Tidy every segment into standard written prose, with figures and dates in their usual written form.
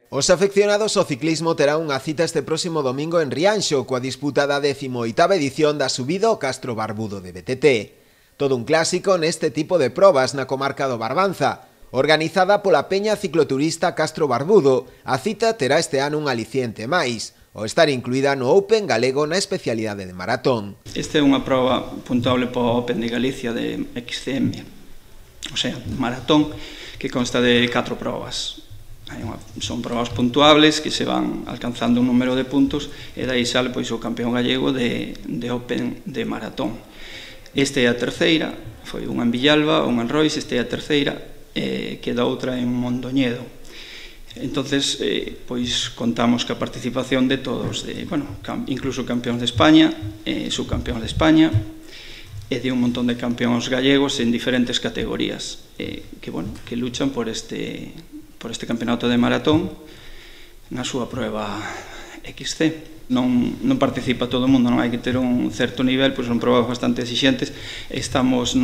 Os afeccionados ao ciclismo terán unha cita este próximo domingo en Rianxo coa disputa da 18ª edición da subida ao Castro Barbudo de BTT. Todo un clásico neste tipo de probas na comarca do Barbanza. Organizada pola Peña Cicloturista Castro Barbudo, a cita terá este ano un aliciente máis, ao estar incluída no Open galego na especialidade de maratón. Esta é unha proba puntuable para o Open de Galicia de XCM, o sea, maratón, que consta de 4 probas. Son probas puntuables que se van alcanzando un número de puntos e dai sale pois o campeón gallego de Open de maratón. Esta é a terceira, foi unha en Villalba, unha en Rois, esta é a terceira, queda outra en Mondoñedo. Entonces, pois contamos ca participación de todos, incluso campeóns de España, subcampeóns de España, e de un montón de campeóns gallegos en diferentes categorías que luchan por este campeonato de maratón na súa prueba XC. Non participa todo o mundo, non hai que ter un certo nivel, pois son probas bastante exixentes. Estamos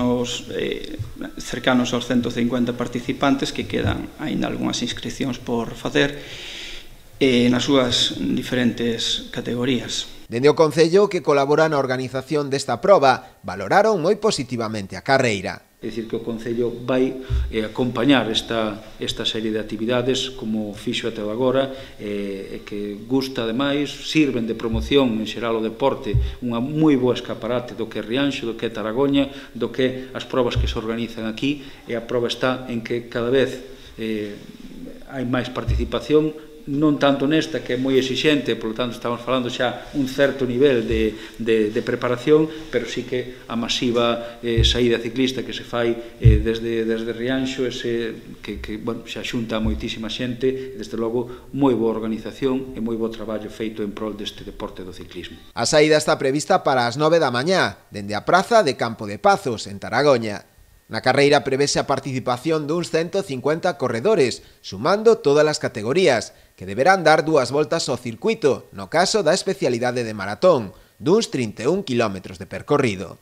cercanos aos 150 participantes, que quedan aínda algunhas inscripcións por facer nas súas diferentes categorías. Dende o Concello, que colabora na organización desta proba, valoraron moi positivamente a carreira. É dicir, que o Concello vai acompañar esta serie de actividades como fixo até agora, que gusta ademais, sirven de promoción en xeral o deporte, unha moi boa escaparate do que é Rianxo, do que é Taragoña, do que as probas que se organizan aquí, e a proba está en que cada vez hai máis participación, non tanto nesta, que é moi exixente, por lo tanto estamos falando xa un certo nivel de preparación, pero sí que a masiva saída ciclista que se fai desde Rianxo, que xa xunta moitísima xente, desde logo moi boa organización e moi bo traballo feito en prol deste deporte do ciclismo. A saída está prevista para as 9 da mañá, dende a praza de Campo de Pazos, en Taragoña. Na carreira prevese a participación duns 150 corredores, sumando todas as categorías, que deberán dar 2 voltas ao circuito, no caso da especialidade de maratón, duns 31 km de percorrido.